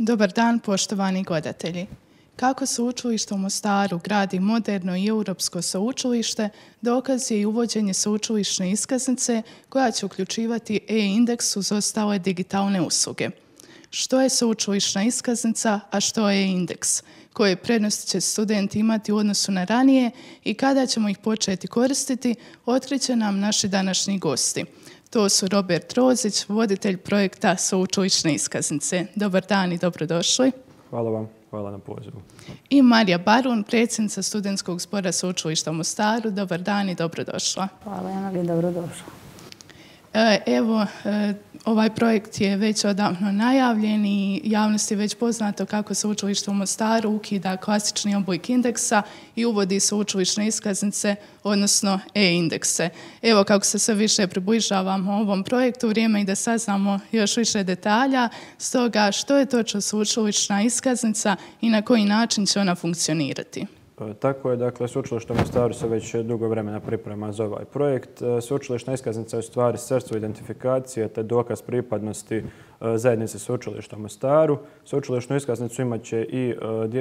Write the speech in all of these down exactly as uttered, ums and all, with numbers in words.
Dobar dan, poštovani gledatelji. Kako Sveučilište u Mostaru gradi moderno i europsko sveučilište, dokaz je i uvođenje sveučilišne iskaznice koja će uključivati e-indeks uz ostale digitalne usluge. Što je sveučilišna iskaznica, a što je e-indeks? Koje prednosti će studenti imati u odnosu na ranije i kada ćemo ih početi koristiti, otkriće nam naši današnji gosti. To su Robert Rozić, voditelj projekta Sveučilišne iskaznice. Dobar dan i dobrodošli. Hvala vam, hvala na pozivu. I Marija Barun, predsjednica Studentskog zbora Sveučilišta u Mostaru. Dobar dan i dobrodošla. Hvala, Emeli, dobrodošla. Evo, ovaj projekt je već odavno najavljen i javnosti je već poznato kako Sveučilište u Mostaru ukida klasični oblik indeksa i uvodi sveučilišne iskaznice, odnosno e-indekse. Evo, kako se sve više približavamo ovom projektu, vrijeme je da saznamo još više detalja. Stoga, što je točno sveučilišna iskaznica i na koji način će ona funkcionirati? Tako je, dakle, Sveučilište u Mostaru se već dugo vremena priprema za ovaj projekt. Sveučilišna iskaznica je u stvari sredstvo identifikacije te dokaz pripadnosti zajednice Sveučilišta u Mostaru. Sveučilišnu iskaznicu imat će i,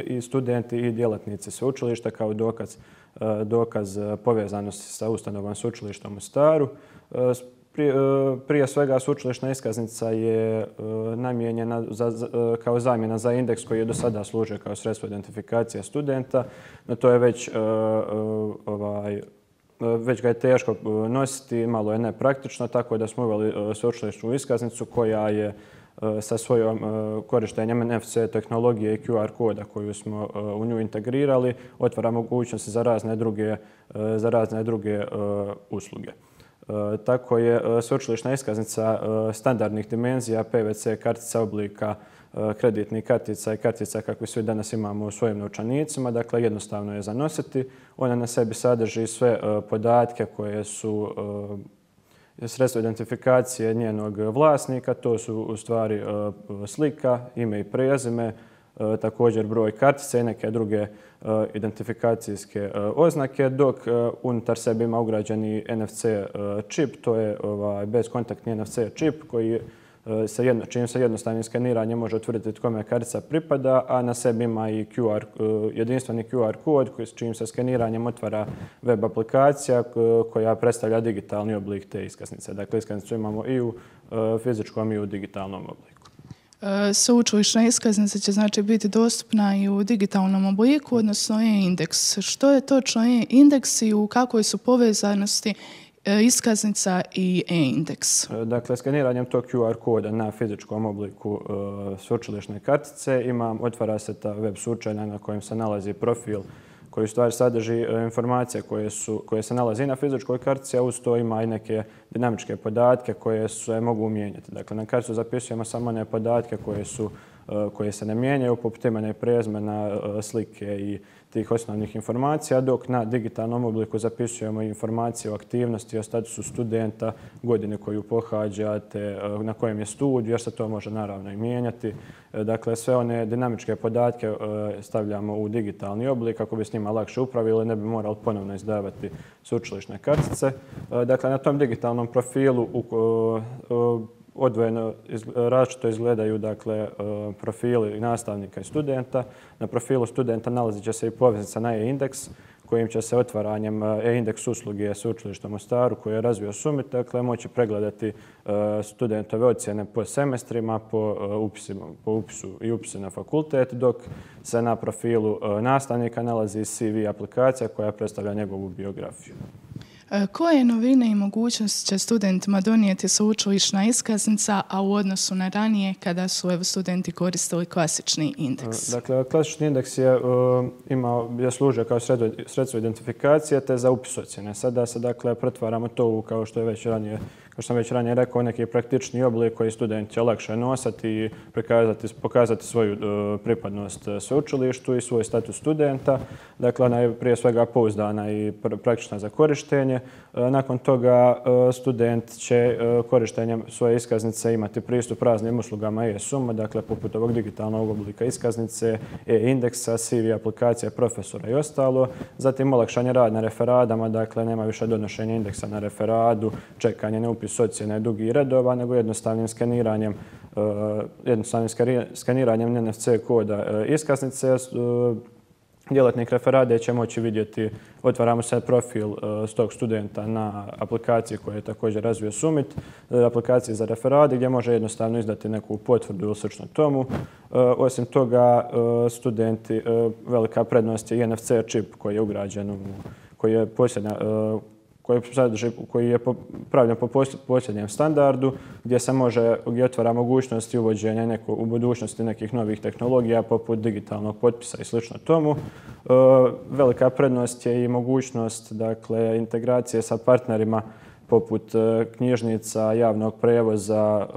i studenti i djelatnici sveučilišta kao dokaz, dokaz povezanosti sa ustanovom Sveučilišta u Mostaru. Prije, prije svega, sveučilišna iskaznica je namijenjena za, za, kao zamjena za indeks koji je do sada služio kao sredstvo identifikacije studenta, no to je već, ovaj, već ga je teško nositi, malo je nepraktično, tako da smo uveli sveučilišnu iskaznicu koja je sa svojom korištenjem N F C tehnologije i Q R koda koju smo u nju integrirali, otvara mogućnosti za razne druge, za razne druge usluge. Tako je sveučilišna iskaznica standardnih dimenzija, P V C kartica oblika kreditnih kartica i kartica kakve svi danas imamo u svojim novčanicima. Dakle, jednostavno je zanositi. Ona na sebi sadrži sve podatke koje su sredstvo identifikacije njenog vlasnika. To su u stvari slika, ime i prezime, također broj kartice i neke druge identifikacijske oznake, dok unutar sebe ima ugrađeni N F C čip, to je ovaj bezkontaktni N F C čip koji se jedno, čim se jednostavnim skeniranjem može utvrditi kome kartica pripada, a na sebi ima i Q R, jedinstveni Q R kod koji s čim se skeniranjem otvara web aplikacija koja predstavlja digitalni oblik te iskaznice. Dakle, iskaznicu imamo i u fizičkom i u digitalnom obliku. Sveučilišna iskaznica će znači biti dostupna i u digitalnom obliku, odnosno e-indeks. Što je točno e-indeks i u kakvoj su povezanosti iskaznica i e-indeks? Dakle, skeniranjem tog Q R koda na fizičkom obliku sveučilišne kartice imam, otvara se ta web sučelja na kojem se nalazi profil koji u stvari sadrži informacije koje, su, koje se nalazi na fizičkoj kartici, a uz to ima i neke dinamičke podatke koje se mogu mijenjati. Dakle, na karticu zapisujemo samo one podatke koje, su, koje se ne mijenjaju, poput imena i prezimena, slike i tih osnovnih informacija, dok na digitalnom obliku zapisujemo informacije o aktivnosti, o statusu studenta, godine koju pohađate, na kojem je studij, jer se to može naravno i mijenjati. Dakle, sve one dinamičke podatke stavljamo u digitalni oblik kako bi s njima lakše upravili, ne bi morali ponovno izdavati sveučilišne kartice. Dakle, na tom digitalnom profilu odvojeno različito izgledaju, dakle, profili nastavnika i studenta. Na profilu studenta nalazit će se i poveznica na e-indeks kojim će se otvaranjem e-indeks usluge Sveučilišta u Mostaru koje je razvio Summit, dakle, moći pregledati studentove ocjene po semestrima, po, upisima, po upisu i upisu na fakultet, dok se na profilu nastavnika nalazi C V aplikacija koja predstavlja njegovu biografiju. Koje novine i mogućnosti će studentima donijeti sveučilišna iskaznica, a u odnosu na ranije kada su evo, studenti koristili klasični indeks? Dakle, klasični indeks je, imao, je služio kao sredstvo identifikacije te za upis ocjene. Sada se dakle pretvaramo to u, kao što je već ranije Kao što sam već ranije rekao, neki praktični oblik koji student će lakše nosati i pokazati svoju pripadnost sveučilištu i svoj status studenta. Dakle, ona je prije svega pouzdana i praktična za korištenje. Nakon toga student će korištenjem svoje iskaznice imati pristup raznim uslugama e-suma, dakle poput ovog digitalnog oblika iskaznice, e-indeksa, C V aplikacije profesora i ostalo. Zatim olakšanje rad na referadama, dakle nema više donošenja indeksa na referadu, čekanje na upis ocjene dugih redova, nego jednostavnim skeniranjem jednostavnim skaniranjem N F C koda iskaznice. Djelatnik referade će moći vidjeti, otvaramo se profil s tog studenta na aplikaciji koju je također razvio Summit, aplikaciji za referade gdje može jednostavno izdati neku potvrdu ili slično tomu. Osim toga, studenti, velika prednost je i N F C čip koji je ugrađen, koji je posljednja, koji, sadrži, koji je pravljen po posljednjem standardu, gdje se može, gdje otvara mogućnosti uvođenja neko, u budućnosti nekih novih tehnologija poput digitalnog potpisa i slično tomu. E, velika prednost je i mogućnost, dakle, integracije sa partnerima poput knjižnica, javnog prevoza,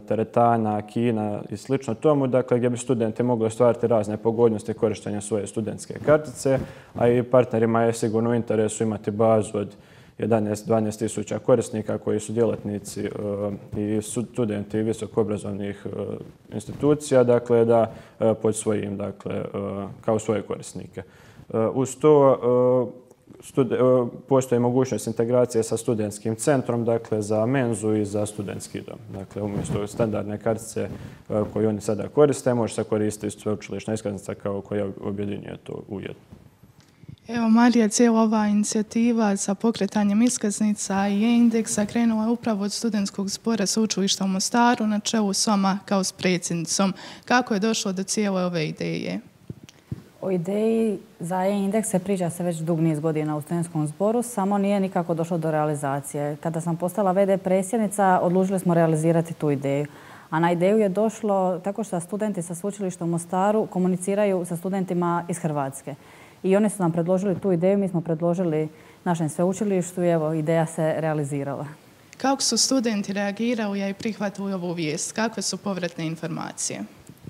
teretana, kina i slično tomu, dakle, gdje bi studenti mogli ostvariti razne pogodnosti korištenja svoje studentske kartice, a i partnerima je sigurno u interesu imati bazu od jedanaest do dvanaest tisuća korisnika koji su djelatnici i studenti visokoobrazovnih institucija, dakle, da pod svojim, dakle, kao svoje korisnike. Uz to postoji mogućnost integracije sa studentskim centrom, dakle, za menzu i za studentski dom. Dakle, umjesto standardne kartice koju oni sada koriste, može se koristiti sveučilišna iskaznica kao koja objedinjuje to ujedno. Evo, Marija, cijela ova inicijativa sa pokretanjem iskaznica i e-indeksa krenula je upravo od studentskog zbora Sveučilišta u Mostaru na čelu s vama kao s predsjednicom. Kako je došlo do cijele ove ideje? O ideji za e-indekse priča se već dug niz godina u studentskom zboru, samo nije nikako došlo do realizacije. Kada sam postala v d predsjednica, odlučili smo realizirati tu ideju. A na ideju je došlo tako što studenti sa Sveučilišta u Mostaru komuniciraju sa studentima iz Hrvatske. I oni su nam predložili tu ideju, mi smo predložili našem sveučilištu i evo, ideja se realizirala. Kako su studenti reagirali i prihvatili ovu vijest? Kakve su povratne informacije?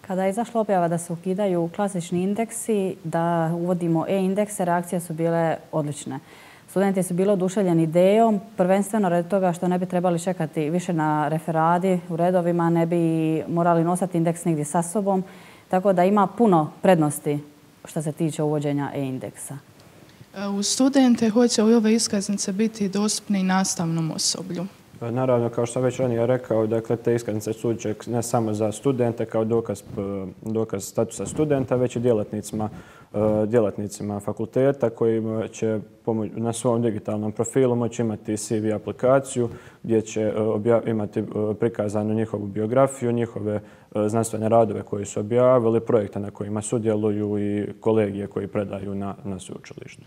Kada je izašla objava da se ukidaju klasični indeksi, da uvodimo e-indekse, reakcije su bile odlične. Studenti su bili oduševljeni idejom, prvenstveno radi toga što ne bi trebali čekati više na referadi u redovima, ne bi morali nositi indeks nigdje sa sobom, tako da ima puno prednosti što se tiče uvođenja e-indeksa. U studente hoće li ove iskaznice biti dostupne i nastavnom osoblju? Naravno, kao što sam već ranije rekao, dakle, te iskaznice služe ne samo za studente kao dokaz, dokaz statusa studenta, već i djelatnicima, djelatnicima fakulteta koji će na svom digitalnom profilu moći imati C V aplikaciju gdje će imati prikazanu njihovu biografiju, njihove znanstvene radove koje su objavili, projekte na kojima sudjeluju i kolegije koji predaju na, na sveučilištu.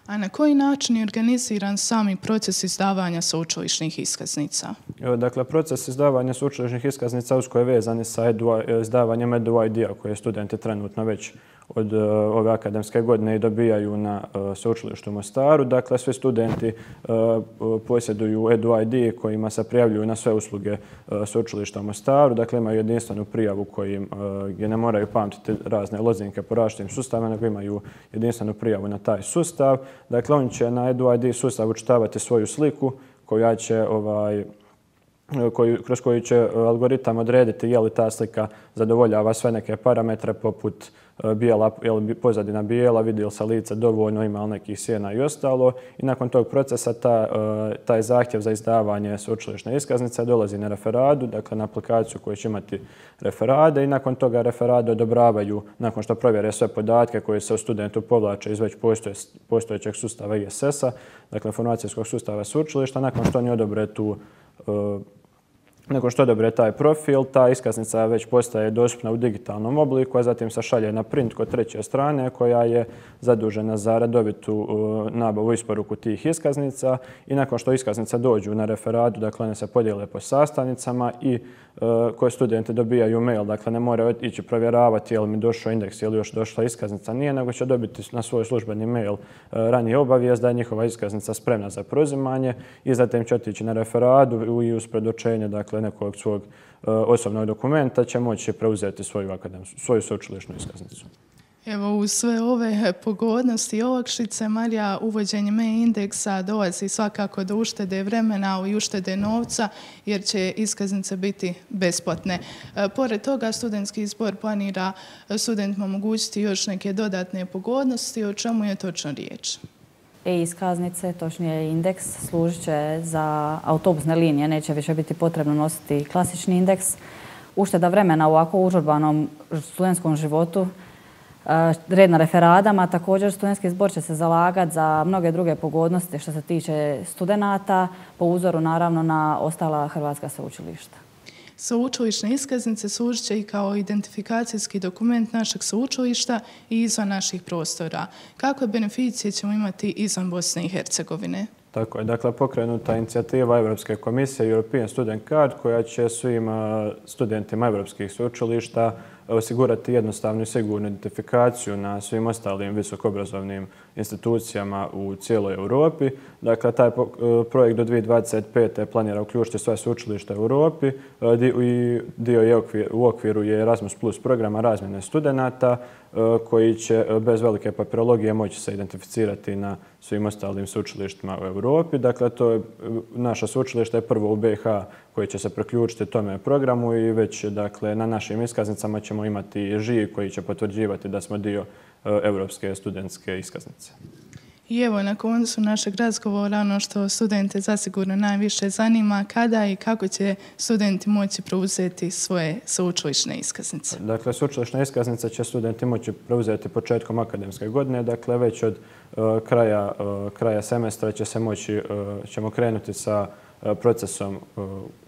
A na koji način je organiziran sami proces izdavanja sveučilišnih iskaznica? Dakle, proces izdavanja sveučilišnih iskaznica usko je vezan sa izdavanjem E D U I D-a koje studenti trenutno već od ove akademske godine i dobijaju na sveučilištu u Mostaru. Dakle, svi studenti posjeduju E D U I D kojima se prijavljuju na sve usluge sveučilišta u Mostaru. Dakle, imaju jedinstvenu prijavu kojim, gdje ne moraju pamtiti razne lozinke po različitim sustavima, nego imaju jedinstvenu prijavu na taj sustav. Dakle, oni će na E D U I D sustav učitavati svoju sliku koja će ovaj, Koju, kroz koju će algoritam odrediti je li ta slika zadovoljava sve neke parametre poput bijela, je li pozadina bijela, vidi li se lice dovoljno, ima li nekih sjena i ostalo. I nakon tog procesa ta, taj zahtjev za izdavanje sveučilišne iskaznice dolazi na referadu, dakle na aplikaciju koju će imati referade i nakon toga referade odobravaju, nakon što provjere sve podatke koje se u studentu povlače iz već postoje, postojećeg sustava I S S-a, dakle informacijskog sustava sveučilišta, nakon što oni odobre tu Nakon što odobre taj profil, ta iskaznica već postaje dostupna u digitalnom obliku, a zatim se šalje na print kod treće strane koja je zadužena za redovitu nabavu i isporuku tih iskaznica i nakon što iskaznice dođu na referadu, dakle one se podijele po sastavnicama i koje studenti dobijaju mail, dakle ne moraju ići provjeravati je li mi došao indeks ili još došla iskaznica, nije, nego će dobiti na svoj službeni mail ranije obavijest da je njihova iskaznica spremna za preuzimanje i zatim će otići na referadu i uz predočenje, dakle, nekog svog osobnog dokumenta će moći preuzeti svoju akademsku, svoju sveučilišnu iskaznicu. Evo, uz sve ove pogodnosti i olakšice, Marija, uvođenjem e-indeksa dolazi svakako do uštede vremena, ali i uštede novca, jer će iskaznice biti besplatne. E, pored toga, studentski zbor planira studentima omogućiti još neke dodatne pogodnosti. O čemu je točno riječ? E-iskaznice, točnije indeks, služit će za autobusne linije. Neće više biti potrebno nositi klasični indeks. ušteda vremena u ovako užurbanom studentskom životu, red na referadama. Također, studentski zbor će se zalagati za mnoge druge pogodnosti što se tiče studenata, po uzoru naravno na ostala hrvatska sveučilišta. Sveučilišne iskaznice služit će i kao identifikacijski dokument našeg sveučilišta i izvan naših prostora. Kakve beneficije ćemo imati izvan Bosne i Hercegovine? Tako je. Dakle, pokrenuta inicijativa Evropske komisije European Student Card koja će svim studentima evropskih sveučilišta osigurati jednostavnu i sigurnu identifikaciju na svim ostalim visokoobrazovnim institucijama u cijeloj Europi. Dakle, taj projekt do dvije tisuće dvadeset pete planira uključiti sva sveučilišta u Europi i dio je u okviru je Erasmus plus programa razmjene studenata koji će bez velike papirologije moći se identificirati na svim ostalim sveučilištima u Europi. Dakle, to je, naša sveučilišta je prvo u B i H koji će se priključiti tome programu i već dakle, na našim iskaznicama ćemo imati žig koji će potvrđivati da smo dio evropske studentske iskaznice. I evo, na koncu našeg razgovora, ono što studente zasigurno najviše zanima, kada i kako će studenti moći preuzeti svoje sveučilišne iskaznice? Dakle, sveučilišne iskaznice će studenti moći preuzeti početkom akademske godine, dakle već od uh, kraja, uh, kraja semestra će se moći, uh, ćemo krenuti sa procesom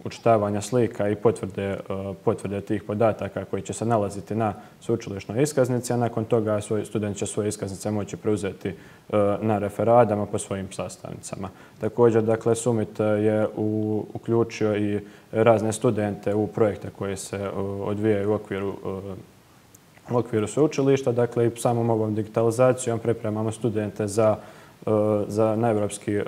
učitavanja slika i potvrde, potvrde tih podataka koji će se nalaziti na sveučilišnoj iskaznici, a nakon toga student će svoje iskaznice moći preuzeti na referadama po svojim sastavnicama. Također, dakle, Summit je u, uključio i razne studente u projekte koje se odvijaju u okviru u okviru sveučilišta. Dakle, i samom ovom digitalizacijom pripremamo studente za za na evropski,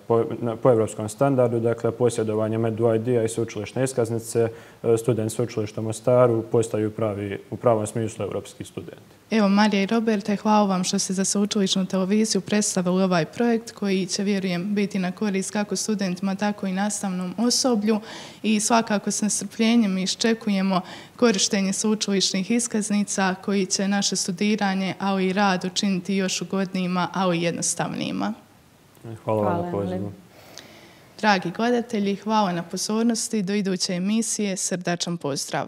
po, po evropskom standardu, dakle posjedovanje Medu I D-a i sveučilišne iskaznice, studenti sveučilišta u Mostaru postaju pravi, u pravom smislu evropski studenti. Evo, Marija i Roberte, hvala vam što ste za sveučilišnu televiziju predstavili ovaj projekt koji će, vjerujem, biti na korist kako studentima, tako i nastavnom osoblju i svakako s nestrpljenjem iščekujemo korištenje sveučilišnih iskaznica koji će naše studiranje, ali i rad učiniti još ugodnijima, ali i jednostavnijima. Hvala vam na pozivu. Dragi gledatelji, hvala na pozornosti. Do iduće emisije, srdačan pozdrav.